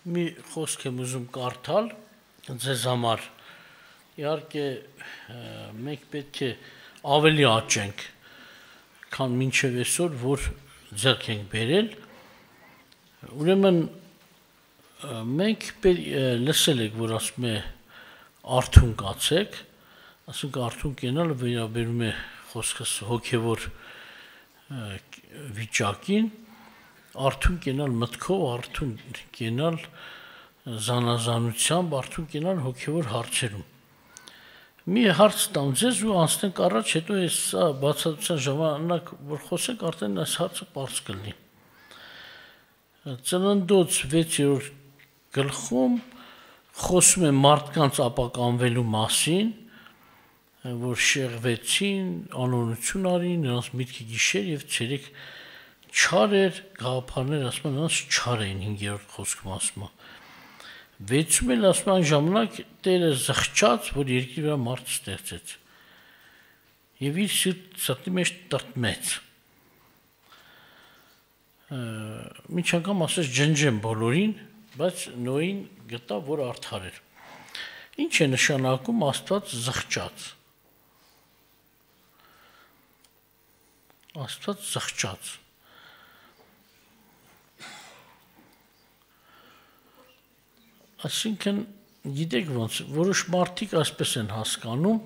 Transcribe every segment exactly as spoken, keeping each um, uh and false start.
մի խոսք եմ ուզում կարդալ ձեզ համար։ Իհարկե մենք պետք է ավելի աճենք, քան մինչև այսօր, որ ձեռք ենք բերել։ Ուրեմն մենք լսել եք, որ ասում է արթուն կացեք, ասենք արթուն կենալը վերաբերում է խոսքս հոգևոր վիճակին, արթուն կենալ մտքով, արթուն կենալ զանազանությամբ, արթուն կենալ հոգևոր հարցերում։ Մի հարց տամ ձեզ ու անցնենք առաջ, հետո այս բացատրության ժամանակ, որ խոսենք, արդեն այս հարցը պարզ կլինի։ Ծննդոց վեցերորդ գլխում խոսում է մարդկանց ապականվելու մասին, որ շեղվեցին, անօրություն արին, նրանց միտքը գիշեր եւ ցերեկ չար էր, գաղափարներ ասում են, նրանց չար էին հինգերորդ խոսքում ասում է։ Վեցում էլ ասում են ժամանակ Տերը զղջաց, որ երկրի վրա մարդ ստեղծեց։ Եվ իր սրտի մեջ տրտմեց։ Մինչ անգամ ասես ջնջեմ բոլորին, բայց Նոյին գտա, որ արդար էր։ Ինչ է նշանակում Աստված զղջաց։ Աստված զղջաց։ Այսինքն, գիտեք ոնց, որոշ մարդիկ այսպես են հասկանում,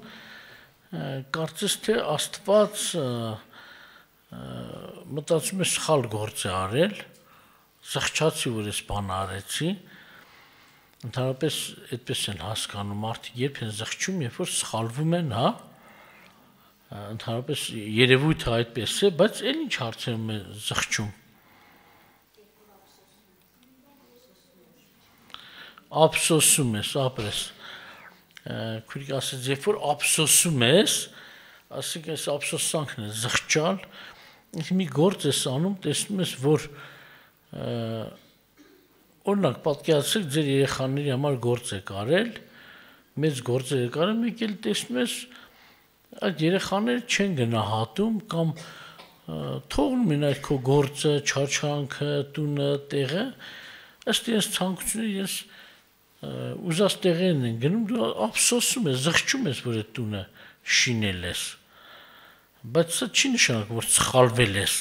կարծես թե Աստված մտածում է սխալ գործ է արել, զղջացի, որ ես բան արեցի, ընդհանրապես այդպես են հասկանում, մարդիկ երբ են զղջում, երբ որ սխալվում են, հա, ընդհանրապես երևույթը այդպես է, բայց էլ ինչ հարցերում է զղջում։ Ափսոսում ես, ապրես, քույրիկ ասեց, երբ որ ափսոսում ես, ասենք այս ափսոսանքն է զղջալ, մի գործ ես անում, տեսնում ես, որ օրինակ պատկերացրեք ձեր երեխաների համար գործ եք արել, մեծ գործեր եք արել, մեկ էլ տեսնում ես, այդ երեխաները չեն գնահատում կամ թողնում են այդ քո գործը, չարչարանքը, տունը, տեղը, ըստ իրենց ցանկությունների ես ուզած տեղերն են գնում, դու ափսոսում ես, զղջում ես, որ այդ տունը շինել ես, բայց սա չի նշանակում, որ սխալվել ես։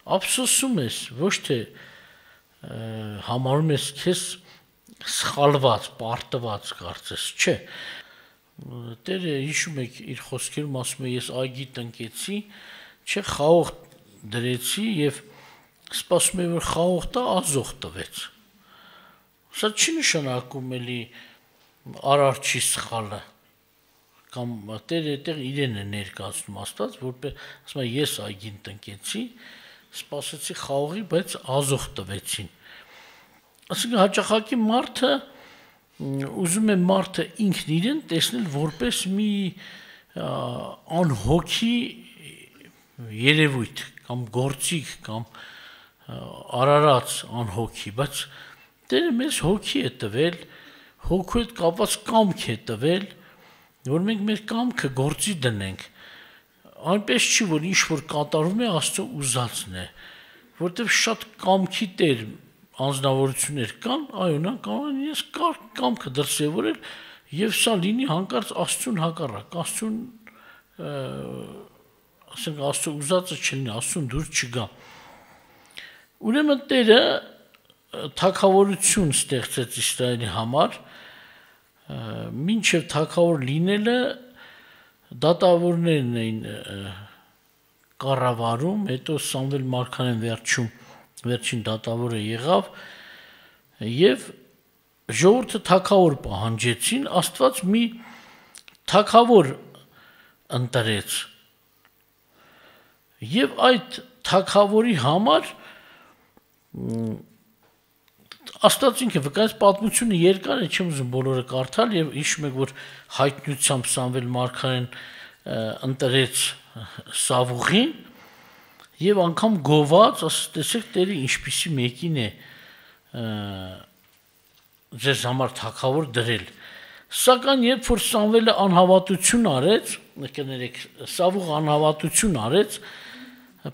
Ափսոսում ես, ոչ թե համարում ես քեզ սխալված, պարտված կարծես, չէ։ Տերը հիշում եք իր խոսքերում ասում է, ես այգի տնկեցի, չէ, խաղող դրեցի եւ սպասում եմ, որ խաղող տա ազող տվեց։ Սա չի նշանակում էլի արարչի սխալը, կամ Տերը այդտեղ իրեն է ներկայացնում Աստված, որպես ասում է, ես այգին տնկեցի, սպասեցի խաղողի, բայց ազող տվեցին։ Այսինքն հաճախակի մարդը ուզում է մարդը ինքն իրեն տեսնել որպես մի անհոգի երևույթ կամ գործիք կամ արարած անհոգի, բայց Տերը մեզ հոգի է տվել, հոգու հետ կապված կամք է տվել, որ մենք մեր կամքը գործի դնենք։ Այնպես չի, որ ինչ որ կատարում է Աստծո ուզածն է, որտեղ շատ կամքի Տեր անձնավորություններ կան, այո, նա կարող է ես կամքը դրսևորել եւ սա լինի հանկարծ Աստծուն հակառակ, Աստծուն ասենք Աստծո ուզածը չլինի, Աստծուն դուր չգա։ Ուրեմն Տերը թագավորություն ստեղծեց Իսրայելի համար, մինչև թագավոր լինելը դատավորներն էին կառավարում, հետո Սամվել մարգարեն վերջում վերջին դատավորը եղավ եւ ժողովուրդը թագավոր պահանջեցին, Աստված մի թագավոր ընտրեց եւ այդ թագավորի համար Աստված ինքը վկայեց, պատմությունը երկար է, չեմ ուզում բոլորը կարդալ եւ հիշում եք, որ հայտնությամբ Սամվել մարգարեն ընտրեց Սավուղին եւ անգամ գոված, ասես տեսեք Տերը ինչպիսի մեկին է ձեզ համար թագավոր դրել։ Սակայն երբ որ Սամվելը անհավատություն արեց, կներեք, Սավուղը անհավատություն արեց,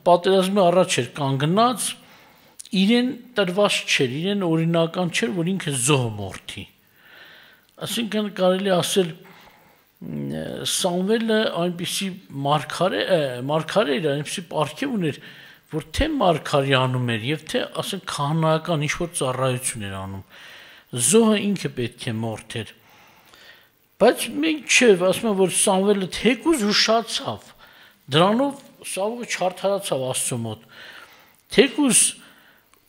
պատերազմի առաջ էր կանգնած իրեն տրված չէր, իրեն օրինական չէր, որ ինքը զոհ մորթի։ Այսինքն կարելի ասել Սամվելը այնպիսի մարգարե մարգարե էր, այնպիսի պարգև ուներ, որ թե մարգարի անում էր եւ թե ասենք քահանայական ինչ-որ ծառայություն էր անում։ Զոհը ինքը պետք է մորթեր։ Բայց մենք չէ, ասում եմ, որ Սամվելը թեկուզ ուշացավ։ Դրանով Սավուղը չարդարացավ Աստծո մոտ։ Թեկուզ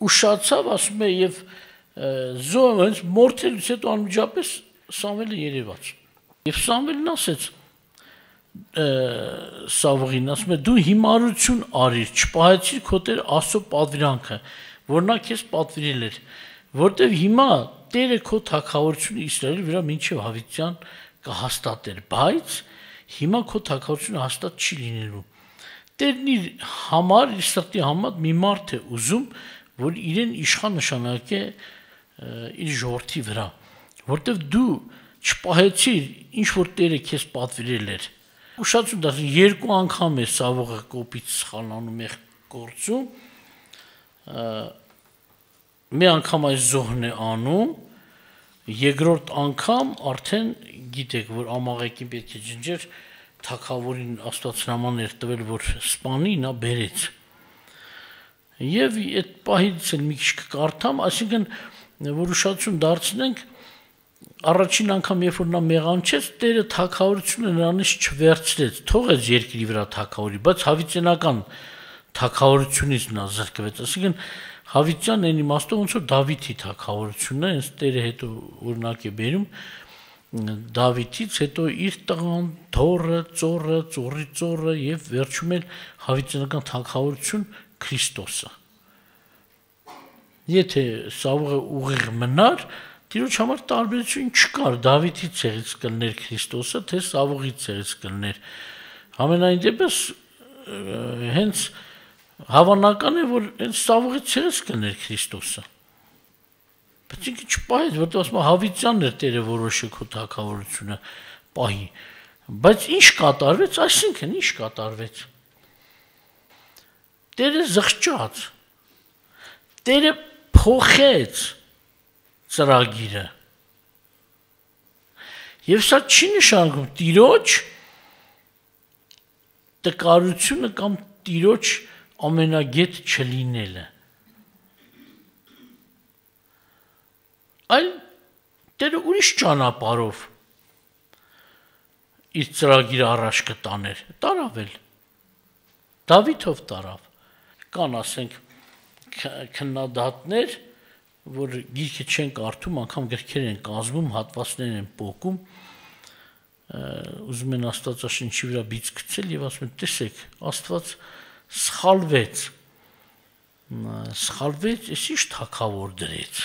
ուշացավ, ասում է, եւ զոհը հենց մորթելուց հետո անմիջապես Սամվելը երևաց։ Եվ Սամվելն ասեց Սավուղին, ասում է, դու հիմարություն արիր, չպահեցիր քո Տեր Աստծո պատվիրանքը, որ նա քեզ պատվիրել էր, որտեվ հիմա Տերը քո թագավորությունը Իսրայելի վրա մինչև հավիտյան կհաստատեր, բայց հիմա քո թագավորությունը հաստատ չի լինելու։ Տերն իր համար, իր սրտի համար մի մարդ է ուզում, որ իրեն իշխան նշանակե իր ժողովրդի վրա, որտեվ դու չպահեցիր ինչ որ Տերը քեզ պատվիրել էր։ Ուշացում դա երկու անգամ է Սավուղը կոպիտ սխալանում է գործում։ Մի անգամ այս զոհն է անում, երկրորդ անգամ արդեն գիտեք, որ Ամաղեկին պետք է ջնջեր, թագավորին Աստված հրաման էր տվել, որ սպանի, նա բերեց։ Եվ այդ պահից էլ մի քիչ կկարդամ, այսինքն որ ուշադրություն դարձնենք, առաջին անգամ երբ որ նա մեղանչեց, Տերը թագավորությունը նրանից չվերցրեց, թողեց երկրի վրա թագավորի, բայց հավիտենական թագավորությունից նա զրկվեց, այսինքն հավիտյան այն իմաստով ոնց որ Դավիթի թագավորությունն է, հենց Տերը հետո օրինակ է բերում Դավիթից հետո իր տղան, թոռը, ծոռը, ծոռի ծոռը եւ վերջում էլ հավիտենական թագավորություն Քրիստոսը։ Եթե Սավուղը ուղիղ մնար, Տիրոջ համար տարբերություն չկար, Դավիթի ցեղից կլներ Քրիստոսը, թե Սավուղի ցեղից կլներ։ Համենայն դեպս հենց հավանական է, որ հենց Սավուղի ցեղից կլներ Քրիստոսը։ Բայց ինքը չպահեց, որտեղ ասում հավիտյանն էր Տերը որոշը քո թագավորությունը պահի։ Բայց ինչ կատարվեց, այսինքն ինչ կատարվեց։ Տերը զղջաց։ Տերը փոխեց ծրագիրը։ Եվ սա չի նշանակում Տիրոջ տկարությունը կամ Տիրոջ ամենագետ չլինելը։ Այլ Տերը ուրիշ ճանապարհով իր ծրագիրը առաջ կտաներ, տարավ էլ, Դավիթով տարավ, կան ասենք քննադատներ, որ գիրքը չեն կարդում, անգամ գրքեր են կազմում, հատվածներ են պոկում, ուզում են Աստվածաշնչի վրա բիծ գցել եւ ասում են, տեսեք, Աստված սխալվեց, սխալվեց, էս ինչ թագավոր դրեց։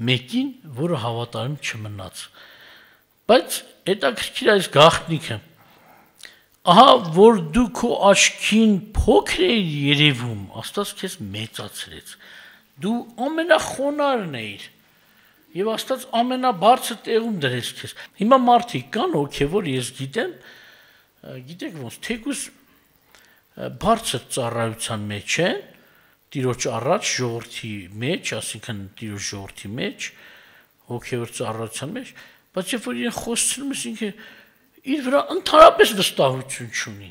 Մեկին, որը հավատարիմ չմնաց։ Բայց հետաքրքիր այս գաղտնիքը։ Ահա որ դու քո աչքին փոքր էիր երևում, Աստված քեզ մեծացրեց։ Դու ամենախոնարհն էիր։ Եվ Աստված ամենաբարձր տեղում դրեց քեզ։ Հիմա մարդիկ կան հոգևոր, ես գիտեմ, գիտեք ոնց, թեկուզ բարձր ծառայության մեջ են, Տիրոջ առաջ ժողովրդի մեջ, ասինքն Տիրոջ ժողովրդի մեջ, հոգևոր ծառայության մեջ, բայց երբ որ իրեն խոսցնում ես, ինքը իր վրա ընդհանրապես վստահություն չունի։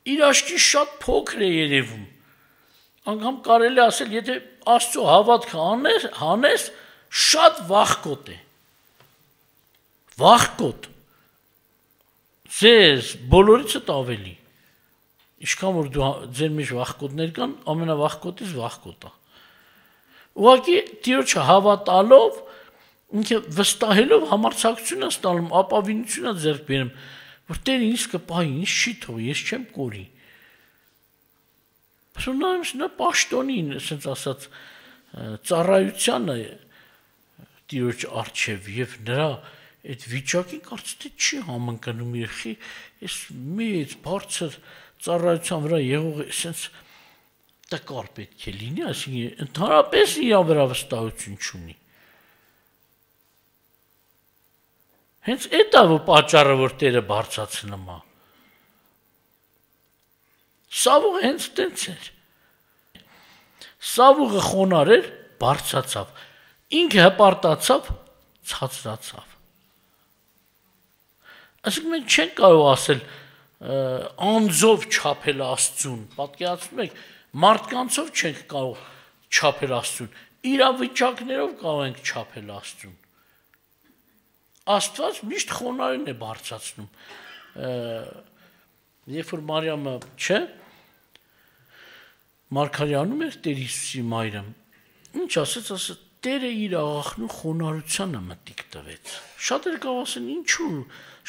Իր աչքին շատ փոքր է երևում։ Անգամ կարելի ասել, եթե Աստծո հավատքը անես, հանես, շատ վախկոտ է։ Վախկոտ։ Ձեզ բոլորիցդ ավելի։ Ինչքան որ դու ձեր մեջ վախկոտներ կան, ամենավախկոտից վախկոտա։ Ուղղակի Տիրոջը հավատալով, ինքը վստահելով համարձակություն է ստանում, ապավինություն է ձեռք բերում, որ Տերը ինձ կպահի, ինձ չի թողի, ես չեմ կորի։ Բայց նա պաշտոնին, ասենց ասած, ծառայությանը Տիրոջ առջև եւ նրա այդ վիճակին կարծես թե չի համընկնում երխի, այս մեծ բարձր ծառայության վրա եղող այսպես տկար պետք է լինի, այսինքն ընդհանրապես իր վրա վստահություն չունի։ Հենց այդ է պատճառը, որ Տերը բարձրացնում է։ Սավուղը հենց տենց էր։ Սավուղը խոնար էր, բարձրացավ։ Ինքը հպարտացավ, ցածրացավ։ Այսինքն մենք չենք կարող ասել անձով չափել Աստծուն, պատկերացնում եք, մարդկանցով չենք կարող չափել Աստծուն, իրավիճակներով կարող ենք չափել Աստծուն։ Աստված միշտ խոնարհին է բարձրացնում։ Երբ որ Մարիամը, չէ, Մարգարյանում էր Տեր Հիսուսի մայրը, ինչ ասեց, ասեց, Տերը իր աղախնու խոնարհությանը մտիկ տվեց։ Շատերը կարող ասեն, ինչու,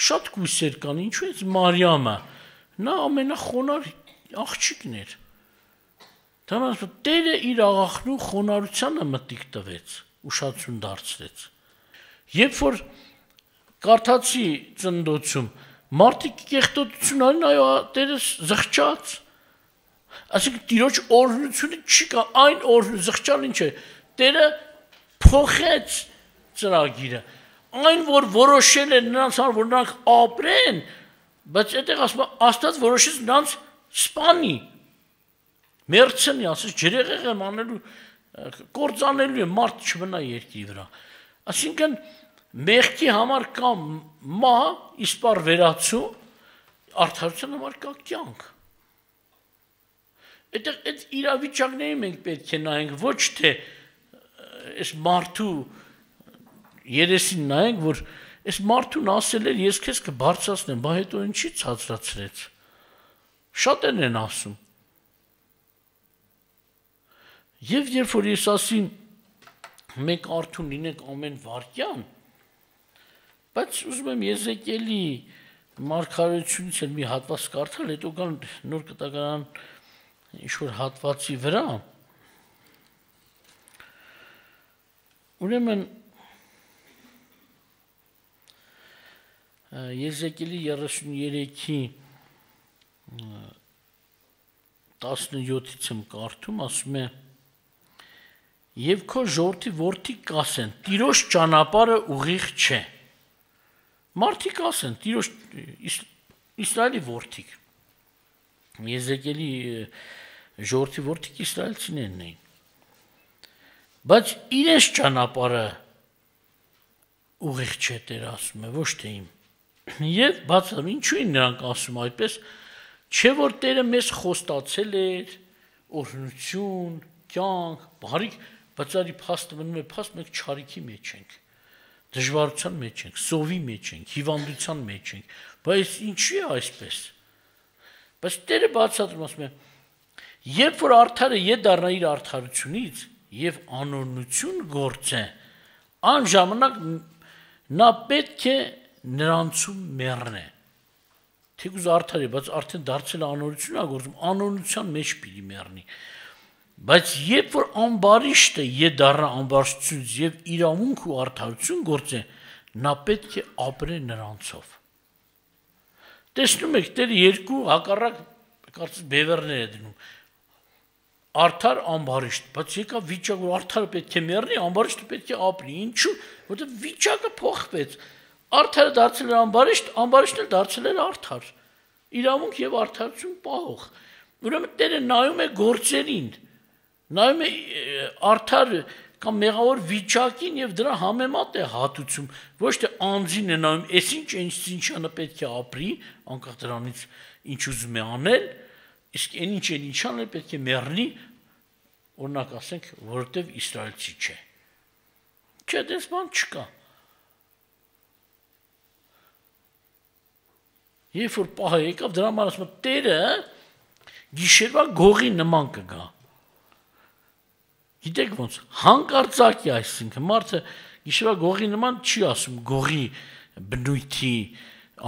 շատ կույսեր կան, ինչու է Մարիամը, նա ամենախոնար աղջիկն էր։ Դրանց Տերը իր աղախնու խոնարհությանը մտիկ տվեց, ուշադրություն դարձրեց։ Երբ որ կարդացի ծննդոցում, մարդիկ կեղտոտություն արին, այո, Տերը զղջաց։ Այսինքն Տիրոջ օրհնությունը չի կա, այն օրհնությունը զղջալ ինչ է, Տերը փոխեց ծրագիրը, այն որ որոշել է նրանց համար, որ նրանք ապրեն, բայց այդտեղ ասում է Աստված որոշեց նրանց սպանի, մերցնի, ասես ջրեղեղ եմ անելու, կործանելու է, մարդ չմնա երկրի վրա։ Այսինքն մեղքի համար կա մահ, իսպառ վերացում, արդարության համար կա կյանք։ Այդտեղ այդ իրավիճակների մենք պետք է նայենք, ոչ թե այս մարդու երեսին նայենք, որ այս մարդուն ասել էր, ես քեզ կբարձրացնեմ, բա հետո ինչի ցածրացրեց։ Շատերն են ասում։ Եվ երբ որ ես ասին, մենք արթուն լինենք ամեն վարքյան, բայց ուզում եմ Եզեկիելի մարգարեությունից էլ մի հատված կարդալ, հետո կան նոր կտակարան ինչ-որ հատվածի վրա, ուրեմն Եզեկիելի երեսուներեքի տասնյոթից եմ կարդում, ասում է, և քո ժողովրդի որդիք կասեն, Տիրոջ ճանապարհը ուղիղ չէ։ Մարդիկ ասեն, Տիրոջ Իսրայելի որդիք։ Եզեկիելի ժողովրդի որդիք իսրայելցիներն էին։ Բայց իրենց ճանապարհը ուղիղ չէ, Տեր ասում է, ոչ թե իմ։ Եվ բացառում, ինչու են նրանք ասում այդպես, չէ որ Տերը մեզ խոստացել էր օրհնություն, կյանք, բարիք, բայց արի փաստը մնում է փաստ, մենք չարիքի մեջ ենք, դժվարության մեջ ենք, սովի մեջ ենք, հիվանդության մեջ ենք, բայց ինչու է այսպես։ Բայց Տերը բացատրում ասում է, երբ որ արդարը ետ դառնա իր արդարությունից եւ անօրնություն գործե, անժամանակ նա պետք է նրանցում մեռնե։ Թեկուզ արդար է, բայց արդեն դարձել է անօրնություն ա գործում, անօրնության մեջ պիտի մեռնի։ Բայց երբ որ ամբարիշտը ետ դառնա ամբարիշտությունից եւ իրավունք ու արդարություն գործե, նա պետք է ապրե նրանցով։ Տեսնում եք, Տերը երկու հակառակ կարծես բևեռներ է դնում։ Արդար ամբարիշտ, բայց եկա վիճակ, որ արդարը պետք է մեռնի, ամբարիշտը պետք է ապրի։ Ինչու՞, որտեղ վիճակը փոխվեց։ Արդարը դարձել էր ամբարիշտ, ամբարիշտը դարձել էր արդար։ Իրավունք եւ արդարություն պահող։ Ուրեմն Տերը նայում է գործերին, նայում է արդար կամ մեղավոր վիճակին եւ դրա համեմատ է հատուցում, ոչ թե անձին է նայում, այս ինչ ինչանը պետք է ապրի, անկախ դրանից ինչ ուզում է անել, իսկ այն ինչ են ինչ անել պետք է մեռնի, օրինակ ասենք, որովհետեւ իսրայելցի չէ։ Չէ, դες բան չկա։ Երբ որ պահը եկավ, դրա համար ասում եմ, Տերը գիշերվա գողի նման կգա։ Գիտեք ոնց, հանկարծակի, այսինքն մարդը գիշերվա գողի նման չի ասում գողի բնույթի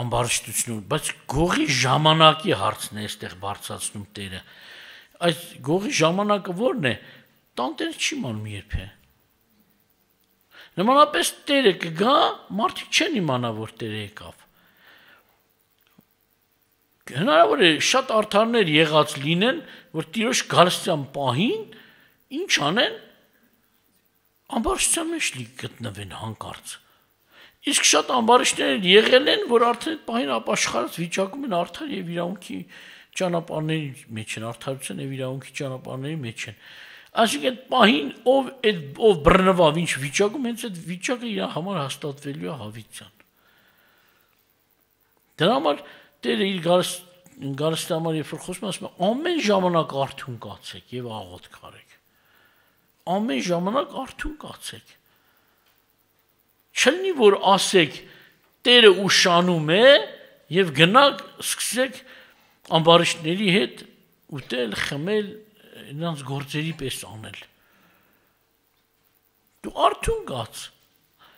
ամբարշտություն, բայց գողի ժամանակի հարցն է այստեղ բարձրացնում Տերը։ Այս գողի ժամանակը ո՞րն է։ Տանտերը չի մանում երբե։ Նմանապես Տերը կգա, մարդիկ չեն իմանա, որ Տերը եկավ։ Հնարավոր է շատ արդարներ եղած լինեն, որ Տիրոջ գալստյան պահին ինչ անեն, ամբարշտության մեջ գտնվեն հանկարծ։ Իսկ շատ ամբարիշտներ եղել են, որ արդեն այդ պահին ապաշխարած վիճակում են արդար եւ իրավունքի ճանապարհների մեջ են, արդարության եւ իրավունքի ճանապարհների մեջ են։ Այսինքն այդ պահին ով այդ ով բռնվավ ինչ վիճակում, հենց այդ վիճակը իր համար հաստատվելու է հավիտյան։ Դրա համար Տերը իր գարստի համար երբ որ խոսում ասում է ամեն ժամանակ արթուն կացեք եւ աղոթք արեք։ Ամեն ժամանակ արթուն կացեք։ Չլինի որ ասեք Տերը ուշանում է եւ գնաք սկսեք ամբարիշտների հետ ուտել, խմել, նրանց գործերի պես անել։ Դու արթուն կաց։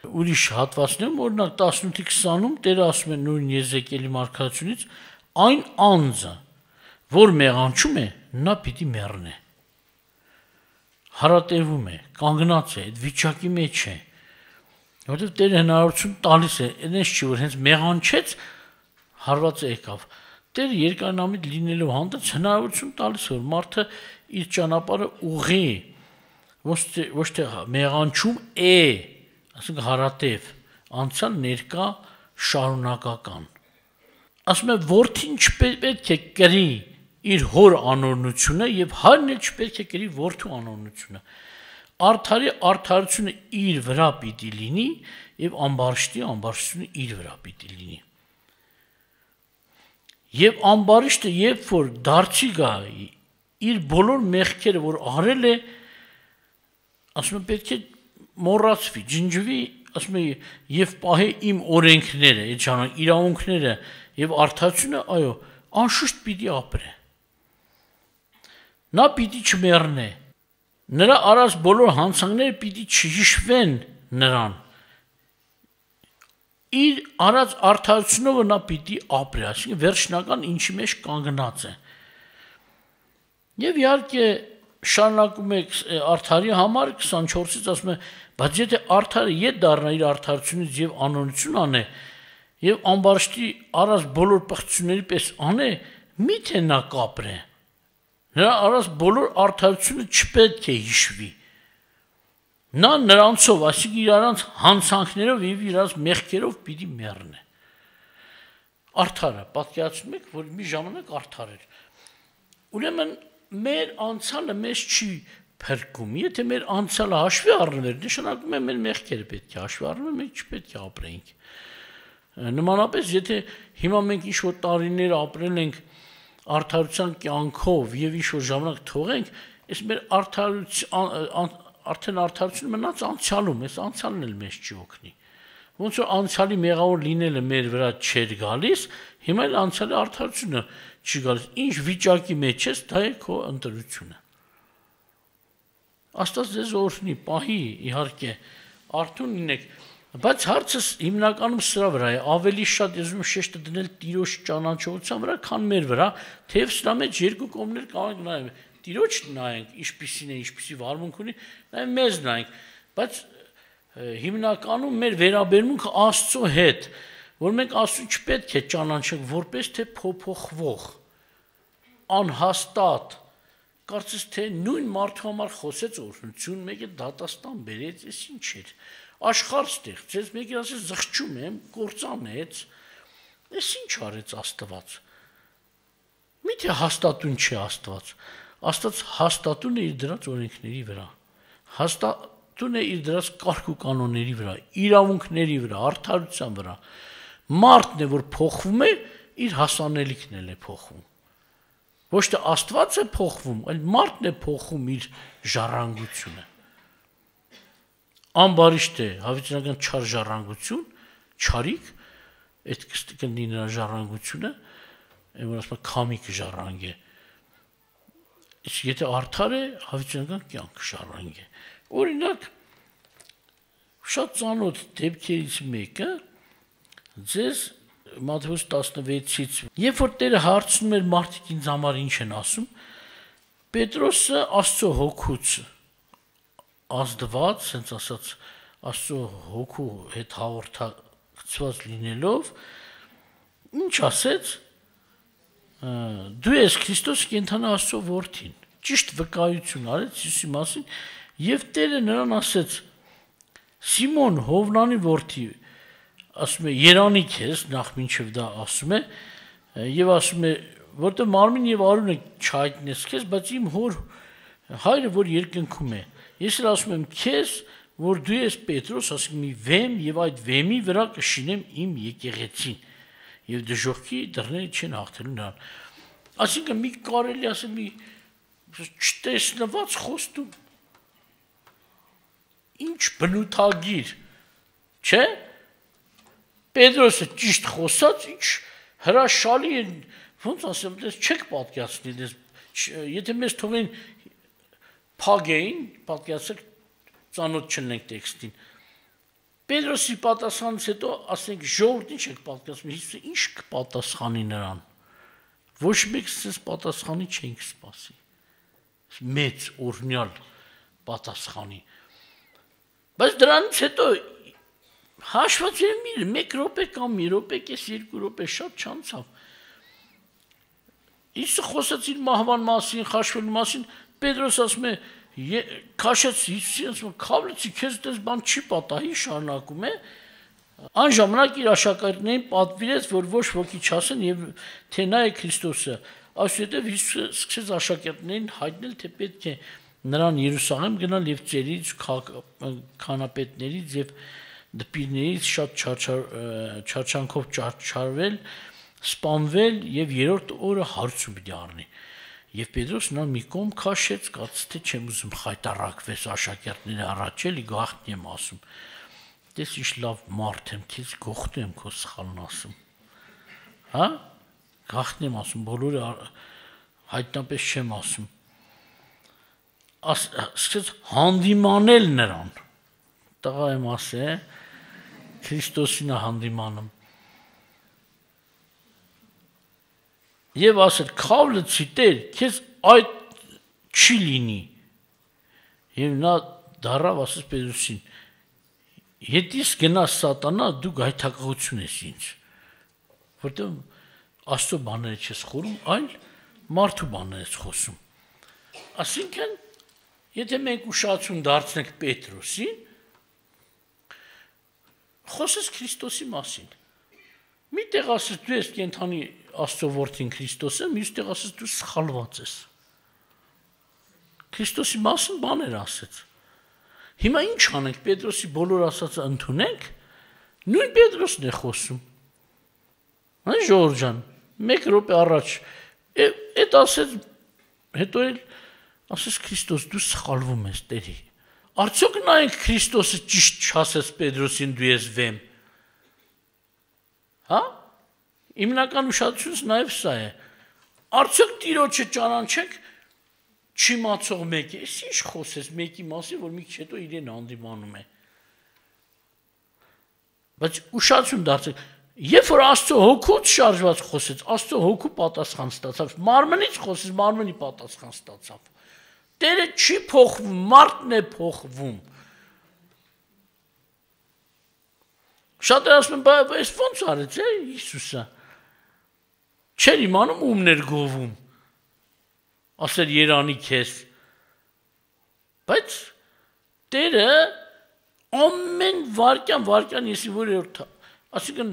Ուրիշ հատվածներում օրինակ տասնութի քսանում Տերը ասում է նույն Եզեկիելի մարգարեությունից այն անձը, որ մեղանչում է, նա պիտի մեռնի։ Հարատևում է, կանգնած է, այդ վիճակի մեջ է։ Որտեւ Տերը հնարավորություն տալիս է, այնպես չի որ հենց մեղանչեց հարվածը եկավ։ Տերը երկարամիտ լինելով հանդերձ հնարավորություն տալիս որ մարդը իր ճանապարհը ուղղի, ոչ թե մեղանչում է, ասենք հարատև, անցյալ ներկա շարունակական։ Ասում է որդին չպետք է կրի իր հոր անօրնությունը եւ հայրն էլ չպետք է կրի որդու անօրնությունը։ Արդարի արդարությունը իր վրա պիտի լինի եւ ամբարիշտի ամբարիշտությունը իր վրա պիտի լինի։ Եվ ամբարիշտը երբ որ դարձի գա իր բոլոր մեղքերը որ արել է, ասում է պետք է մոռացվի, ջնջվի, ասում է եւ պահի իմ օրենքները, այդ ժամանակ իրավունքները եւ արդարությունը, այո, անշուշտ պիտի ապրե։ Նա պիտի չմեռնե։ Նրա արած բոլոր հանցանքները պիտի չհիշվեն նրան։ Իր արած արդարությունով նա պիտի ապրի, այսինքն վերջնական ինչի մեջ կանգնած է։ Եվ իհարկե շարունակում է արդարի համար քսանչորսից ասում է, բայց եթե արդարը ետ դառնա իր արդարությունից եւ անօրինություն անե եւ ամբարիշտի արած բոլոր պղծությունների պես անե, միթե նա կապրե։ Նրա արած բոլոր արդարությունը չպետք է հիշվի։ Նա նրանցով, այսինքն իրանց հանցանքներով եւ իրանց մեղքերով պիտի մեռնի։ Արդարը, պատկերացնում եք, որ մի ժամանակ արդար էր։ Ուրեմն մեր անցյալը մեզ չի փրկում։ Եթե մեր անցյալը հաշվի առնվեր, նշանակում է մեր մեղքերը պետք է հաշվի առնվեն, մենք չպետք է ապրենք։ Նմանապես, եթե հիմա մենք ինչ-որ տարիներ ապրել ենք արդարության կյանքով եւ ինչ-որ ժամանակ թողենք, այս մեր արդարություն արդեն արդարությունը մնաց անցյալում, այս անցյալն էլ մեզ չի օգնի։ Ոնց որ անցյալի մեղավոր լինելը մեր վրա չէր գալիս, հիմա էլ անցյալի արդարությունը չի գալիս։ Ինչ վիճակի մեջ ես, դա է քո ընտրությունը։ Աստված ձեզ օրհնի, պահի, իհարկե, արթուն լինեք, բայց հարցս հիմնականում սրա վրա է, ավելի շատ ես ուզում շեշտը դնել Տիրոջ ճանաչողության վրա, քան մեր վրա, թեև սրա մեջ երկու կողմներ կարող են նայել։ Տիրոջ նայենք, ինչպիսին է, ինչպիսի վարմունք ունի, նայենք մեզ նայենք, բայց հիմնականում մեր վերաբերմունքը Աստծո հետ, որ մենք Աստծուն չպետք է ճանաչենք որպես թե փոփոխվող, անհաստատ, կարծես թե նույն մարդու համար խոսեց օրհնություն, մեկը դատաստան բերեց, այս ինչ էր, աշխարհ ստեղծեց, մեկը ասեց զղջում եմ, կործանեց, այս ինչ արեց Աստված։ Միթե հաստատուն չէ Աստված։ Աստված հաստատուն է իր դրած օրենքների վրա, հաստատուն է իր դրած կարգ ու կանոնների վրա, իրավունքների վրա, արդարության վրա։ Մարդն է, որ փոխվում է, իր հասանելիքն էլ է փոխվում։ Ոչ թե Աստված է փոխվում, այլ մարդն է փոխում իր ժառանգությունը։ Ամբարիշտ է, հավիտենական չար ժառանգություն, չարիք, այդ կլինի նրա ժառանգությունը, այն որ ասում է քամիկ ժառանգ է։ Իսկ եթե արդար է, հավիտենական կյանք ժառանգ է։ Օրինակ, շատ ծանոթ դեպքերից մեկը ձեզ Մատթեոս տասնվեցից, երբ որ Տերը հարցնում էր մարդիկ ինձ համար ինչ են ասում, Պետրոսը Աստծո հոգուց ազդված, հենց ասած Աստծո հոգու հետ հաղորդակցված լինելով, ինչ ասեց, դու ես Քրիստոս կենդանի Աստծո որդին, ճիշտ վկայություն արեց Հիսուսի մասին, եւ Տերը նրան ասեց. Սիմոն Հովնանի որդի, ասում է երանի քեզ, նախ մինչև դա ասում է, եւ ասում է որտեղ մարմին եւ արունը չհայտնես քեզ, բայց իմ հոր հայրը, որ երկնքում է, ես էլ ասում եմ քեզ, որ դու ես Պետրոս, ասում մի վեմ եւ այդ վեմի վրա կշինեմ իմ եկեղեցին եւ դժոխքի դռները չեն հաղթելու նրան։ Այսինքն մի կարելի ասել մի չտեսնված խոստում, ինչ բնութագիր, չէ՞։ Պետրոսը ճիշտ խոսած, ինչ հրաշալի է, ոնց ասեմ, դες չեք պատկերացնի, դες եթե մեզ թողին փագեին, պատկերացեք ծանոթ չնենք տեքստին։ Պետրոսի պատասխանից հետո ասենք ժողովուրդ ինչ եք պատկերացնում, Հիսուսը ինչ կպատասխանի նրան։ Ոչ մեկ սենց պատասխանի չենք սպասի։ Մեծ օրհնյալ պատասխանի։ Բայց դրանից հետո հաշված եմ իր մեկ րոպե կամ մի րոպե, կես երկու րոպե շատ չանցավ։ Հիսուսը խոսեց իր մահվան մասին, խաշվելու մասին, Պետրոս ասում է, քաշեց Հիսուսին, ասում է, քավլեցի, քեզ դες բան չի պատահի, շարունակում է։ Այն ժամանակ իր աշակերտներին պատվիրեց, որ ոչ ոքի չասեն եւ թե նա է Քրիստոսը։ Այսուհետև Հիսուսը սկսեց աշակերտներին հայտնել, թե պետք է նրան Երուսաղեմ գնալ եւ ծերից, քանապետներից եւ դպիրներից շատ չարչանքով չարչարվել, սպանվել եւ երրորդ օրը հարցում պիտի առնի։ Եվ Պետրոսն նա մի կողմ քաշեց, կաց թե չեմ ուզում խայտարակվես աշակերտների առաջ էլի գաղտնի եմ ասում։ Դες ինչ լավ մարդ եմ, քեզ գողտու եմ քո սխալն ասում։ Հա? Գաղտնի եմ ասում, բոլորը հայտնապես չեմ ասում։ Սկսեց հանդիմանել նրան։ Տղա եմ ասե, Քրիստոսին է հանդիմանում։ Եվ ասել, քավլեցի Տեր, քեզ այդ չի լինի։ Եվ նա դառավ ասեց Պետրոսին, հետիս գնաս սատանա, դու գայթակղություն ես ինձ, որտեղ Աստծո բաները չես խորում, այլ մարդու բաները ես խոսում։ Այսինքն, եթե մենք ուշադրություն դարձնենք Պետրոսին, խոսես Քրիստոսի մասին։ Մի տեղ ասես դու ես կենթանի Աստծո որդին Քրիստոսը, մյուս տեղ ասես դու սխալված ես։ Քրիստոսի մասին բաներ ասեց։ Հիմա ինչ անենք, Պետրոսի բոլոր ասածը ընդունենք, նույն Պետրոսն է խոսում։ Այն Ժորժ ջան, մեկ րոպե առաջ այդ ասեց, հետո էլ ասես Քրիստոս, դու սխալվում ես Տերի։ Արդյոք նայենք Քրիստոսը ճիշտ չասեց Պետրոսին դու ես վեմ։ Հա? Հիմնական ուշադրությունս նաև սա է։ Արդյոք Տիրոջը ճանաչենք չիմացող մեկի, ես ինչ խոսես մեկի մասին, որ մի քիչ հետո իրեն հանդիմանում է։ Բայց ուշադրություն դարձեք, երբ որ Աստծո հոգուց շարժված խոսեց, Աստծո հոգու պատասխան ստացավ, մարմնից խոսեց, մարմնի պատասխան ստացավ։ Տերը չի փոխվում, մարդն է փոխվում։ Շատերը ասում են, բայց այս ո՞նց արեց է Հիսուսը։ Չէր իմանում ումներ գովում։ Ասել Երանի քեզ։ Բայց Տերը ամեն վարքյան վարքյան եսի որերորդ, ասիկն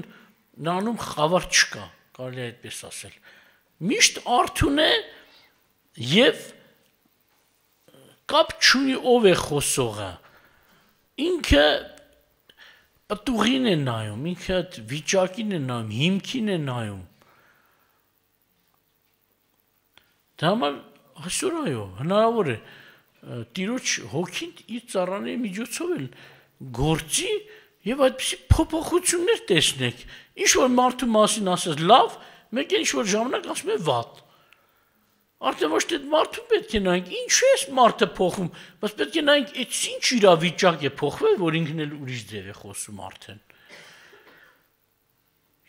նանում խավար չկա, կարելի է այդպես ասել։ Միշտ արթուն է եւ կապ չունի ով է խոսողը։ Ինքը պտուղին է նայում, ինքը վիճակին է նայում, հիմքին է նայում։ Դա համար այսօր այո, հնարավոր է Տիրոջ հոգին իր ծառաների միջոցով էլ գործի եւ այդպիսի փոփոխություններ տեսնեք։ Ինչ որ մարդու մասին ասես լավ, մեկ էլ ինչ որ ժամանակ ասում է վատ։ Արդեն ոչ թե մարդու պետք է նայենք, ինչու է մարդը փոխվում, բայց պետք է նայենք, այդ ինչ իրավիճակ է փոխվել, որ ինքն էլ ուրիշ ձև է խոսում արդեն։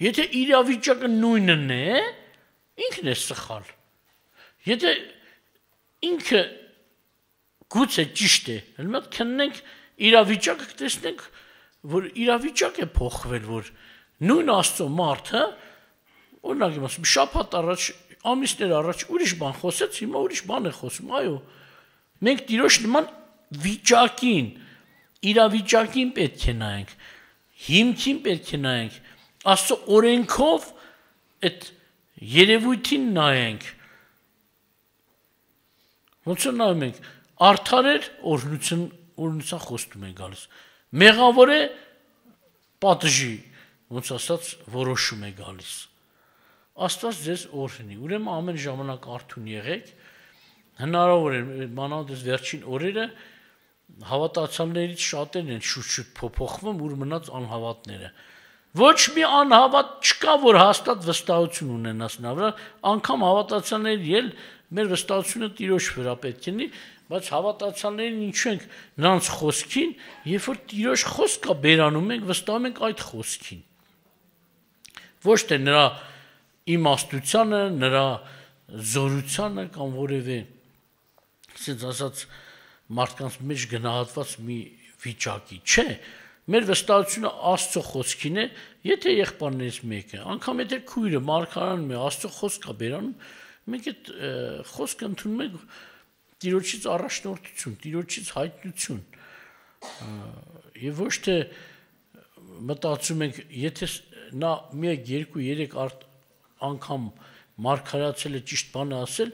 Եթե իրավիճակը նույնն է, ինքն է սխալ։ Եթե ինքը գուցե ճիշտ է, հենց մոտ քննենք իրավիճակը կտեսնենք, որ իրավիճակ է փոխվել, որ նույն Աստծո մարդը, օրինակ եմ ասում, շաբաթ առաջ, ամիսներ առաջ ուրիշ բան խոսեց, հիմա ուրիշ բան է խոսում, այո։ Մենք Տիրոջ նման վիճակին, իրավիճակին պետք է նայենք, հիմքին պետք է նայենք, Աստծո օրենքով այդ երևույթին նայենք, ոնց է նայում ենք, արդար էր, օրհնություն օրհնության խոստում են գալիս, մեղավոր է, պատժի, ոնց ասած, որոշում է գալիս, Աստված ձեզ օրհնի, ուրեմն ամեն ժամանակ արթուն եղեք, հնարավոր է, մանավանդ վերջին օրերը հավատացյալներից շատերն են շուտ-շուտ փոփոխվում, ուր մնաց անհավատները, ոչ մի անհավատ չկա, որ հաստատ վստահություն ունենաս նա վրա, անգամ հավատացյալների էլ մեր վստահությունը Տիրոջ վրա պետք է լինի, բայց հավատացյալներին ինչու ենք նրանց խոսքին, երբ որ Տիրոջ խոսքը բերանում ենք, վստահում ենք այդ խոսքին, ոչ թե նրա իմաստությանը, նրա զորությանը կամ որևէ, ասենց ասած, մարդկանց մեջ գնահատված մի վիճակի, չէ, մեր վստահությունը Աստծո խոսքին է, եթե եղբայրներից մեկը, անգամ եթե քույրը մարգարանում է, Աստծո խոսք է բերանում, մենք այդ խոսքը ընդունում ենք Տիրոջից առաջնորդություն, Տիրոջից հայտնություն, եւ ոչ թե մտածում ենք, եթե նա մեկ, երկու, երեք անգամ մարգարացել է ճիշտ բանը ասել,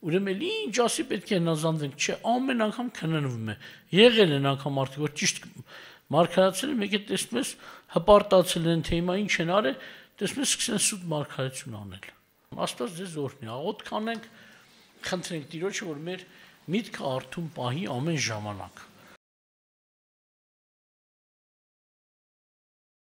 ուրեմն ինչ ասի պետք է հնազանդվենք, չէ, ամեն անգամ քննվում է, եղել են անգամ մարդիկ, որ ճիշտ մարգարացել են, մեկ է տեսնում ես հպարտացել են, թե հիմա ինչ են արել, տեսնում ես սկսեն սուտ մարգարություն անել, Աստված ձեզ օրհնի, աղոթք անենք, խնդրենք Տիրոջը, որ մեր միտքը արթուն պահի ամեն ժամանակ